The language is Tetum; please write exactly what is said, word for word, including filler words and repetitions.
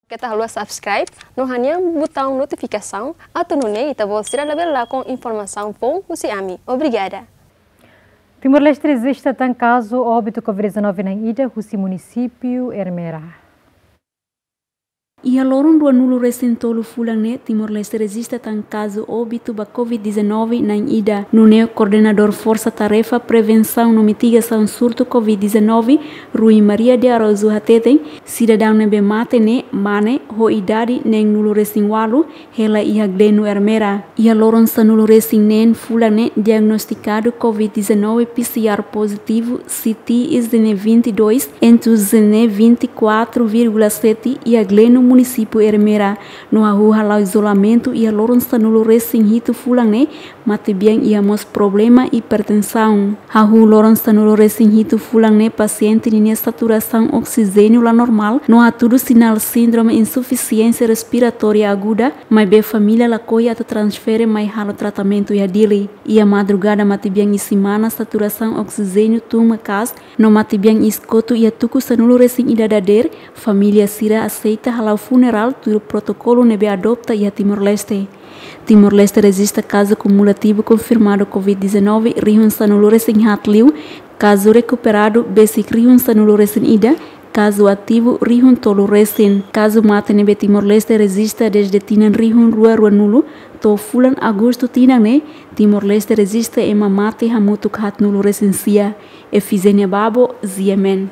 Keta haluha subscribe no hanehan butaun notifikasaun atu nune'e ita-boot sira labele lakon informasaun foun husi ami. Obrigada. Timor-Leste rejista tan kazu óbitu covid dezanove na'in ida husi munisípiu Ermera. Iha loron ruanulu-resin-tolu fulan ne'e, Timor-Leste rejista tan kazu óbitu ba covid dezanove na'in ida. Nune'e Koordenadór Forsa Tarefa Prevensaun no Mitigasaun Surtu covid dezanove, Rui Maria de Araújo hateten, sidadaun ne'ebé mate ne'e mane ho idade neenulu-resin-ualu, hela iha Gleno Ermera. Iha loron sanulu-resin-neen fulan ne'e diagnostikadu covid dezanove P C R pozitivu, C T I Z N vinte e dois, entu Z N vinte e quatro vírgula sete iha Gleno, munisípiu Ermera. No hahú hala'o izolamentu iha loron sanulu-resin-hitu fulan ne'e, matebian iha mós problema hipertensaun. Hahú loron sanulu-resin-hitu fulan ne'e pasiente ninia saturasaun oksijéniu la normál no hatudu sinál síndrome insufisiénsia respiratória aguda, maibé família lakohi atu transfere mai halo tratamentu iha Dili. Iha madrugada matebian isin-manas saturasaun oksijéniu tun maka'as, no matebian iis kotu iha tuku sanulu-resin-ida dadeer, família sira aseita hala'o funerál tuir protokolu ne'ebé adota iha Timor-Leste. Timor-Leste rejista kazu kumulativu konfirmadu covid dezanove rihun sanulu-resin-haat liu, kazu rekuperadu besik rihun sanulu-resin-ida, kazu ativu rihun tolu resin. Kazu mate ne'ebé Timor-Leste rejista dezde tinan rihun rua ruanulu to'o fulan Agostu tinan ne'e, Timor-Leste rejista ema mate hamutuk haatnulu-resin-sia. Efizénia Babo, G M N.